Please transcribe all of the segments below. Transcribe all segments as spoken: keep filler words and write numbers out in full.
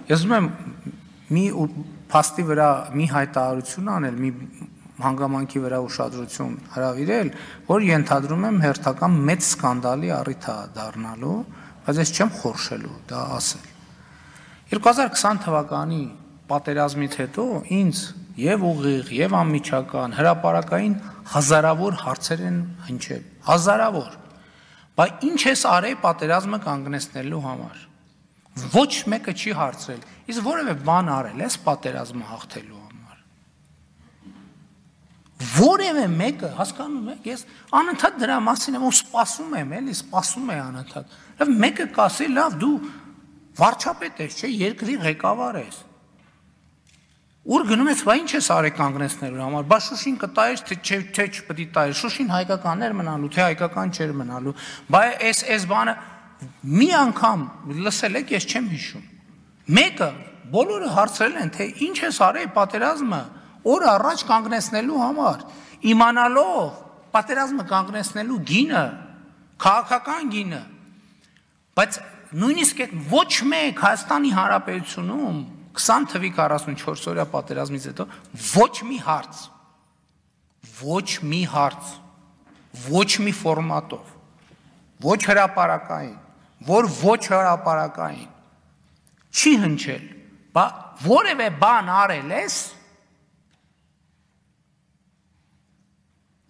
Ես ուզում եմ մի փաստի վրա մի հայտարարություն անել, մի հանգամանքի վրա ուշադրություն հրավիրել, որ ենթադրում եմ հերթական մեծ սկանդալի առիթ է դառնալու, բայց ես չեմ խորշելու դա ասել։ երկու հազար քսան թվականի պատերազմից հետո ինձ եւ ուղիղ եւ անմիջական հրապարակային հազարավոր հարցեր են հնչել, հազարավոր։ Բայց ինչ ես արել պատերազմը կանգնեցնելու համար։ Ոչ մեկը չի հարցրել, իսկ որևէ բան արել ես պատերազմը հաղթելու համար։ Որևէ մեկը, հասկանում եք, ես անընդհատ դրա մասին եմ ու սպասում եմ, էլի սպասում եմ անընդհատ։ Լավ մեկը կասի, լավ դու վարչապետ ես, չէ, երկրի ղեկավար ես։ Ուր գնում ես, բա ինչ ես արել կանգնեցնելու համար, բա Շուշին կտայես, թե չէ, թե չպետք է տայես, Շուշին հայկականներ մնալու, թե հայկական չէր մնալու, բա այս այս բանը մի անգամ լսել եք, ես չեմ հիշում։ Մեկը բոլորը հարցրել են, թե ինչ ես արել պատերազմը օր առաջ կանգնեցնելու համար, իմանալով պատերազմը կանգնեցնելու գինը, քաղաքական գինը, բայց նույնիսկ այդ ոչ մեկ Հայաստանի Հանրապետությունում քսան թվի քառասունչորս օրյա պատերազմից հետո ոչ մի հարց, ոչ մի հարց, ոչ մի ֆորմատով, ոչ հրապարակային, որ ոչ հրապարակային չի հնչել, բա որևէ բան արել ես,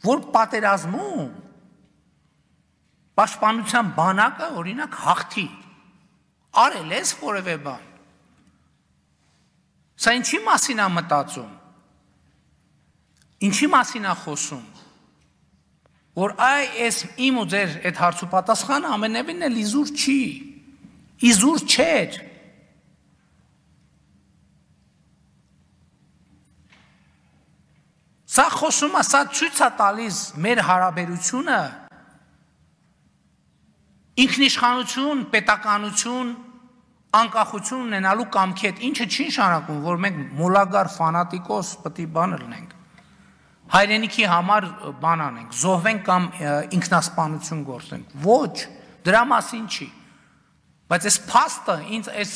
որ պատերազմում պաշտպանության բանակը օրինակ հաղթի, արել ես որևէ բան։ Սա ինչի մասին է մտածում, ինչի մասին է խոսում, որ այ այս իմ ու ձեր այդ հարցու պատասխանը ամենևին էլ իզուր չի, իզուր չէր։ Սա խոսում է, սա ցույց է տալիս մեր հարաբերությունը ինքնիշխանություն, պետականություն, անկախություն ունենալու կամքի հետ, ինչը չի նշանակում, որ մենք մոլագար ֆանատիկոս պետք է բան լինենք, հայրենիքի համար բան անենք, զոհվենք կամ ինքնասպանություն գործենք, ոչ, դրա մասին չի, բայց այս փաստը ինձ այս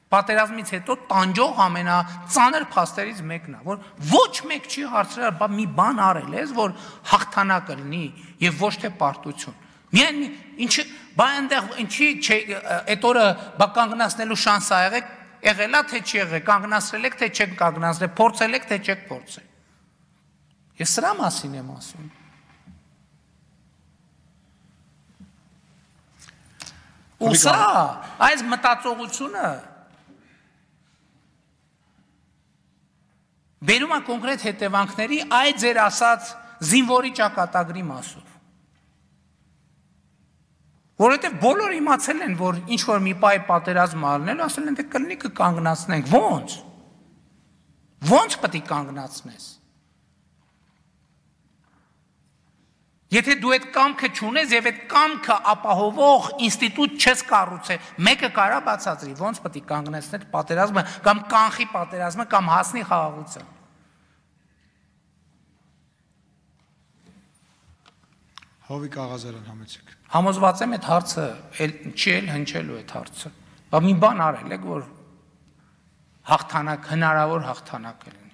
պատերազմից հետո տանջող ամենածանր փաստերից մեկն է, որ ոչ մեկ չի հարցրել, բա մի բան արել ես, որ հաղթանակ լինի եւ ոչ թե պարտություն։ Միայն ինչի բա այնտեղ ինչի այդ օրը բա կանգնացնելու շանս ա եղեք, եղելա թե չի եղել, կանգնացրել եք թե չեք կանգնացրել, փորձել եք թե չեք փորձել։ Ես սրա մասին եմ ասում։ Ու սա այս մտածողությունը բերում է կոնկրետ հետևանքների այդ ձեր ասած զինվորի ճակատագրի մասով։ Որովհետև բոլորը իմացել են, որ ինչ-որ մի պահ պատերազմ ալնելու, ասել են, թե կլինի կկանգնացնենք, ո՞նց, ո՞նց պետք է կանգնացնես։ Եթե դու այդ կամքը չունես եւ այդ կամքը ապահովող ինստիտուտ չես կառուցել, մեկը կարա բացատրի, ո՞նց պետք է կանգնեցնել պատերազմը կամ կանխի պատերազմը կամ հասնի խաղաղության։ Հովիկ Աղազարյան համեցեք։ Համոզված եմ այդ հարցը չի էլ հնչելու այդ հարցը։ Բա մի բան արել եք, որ հաղթանակ, հնարավոր հաղթանակ է լինի։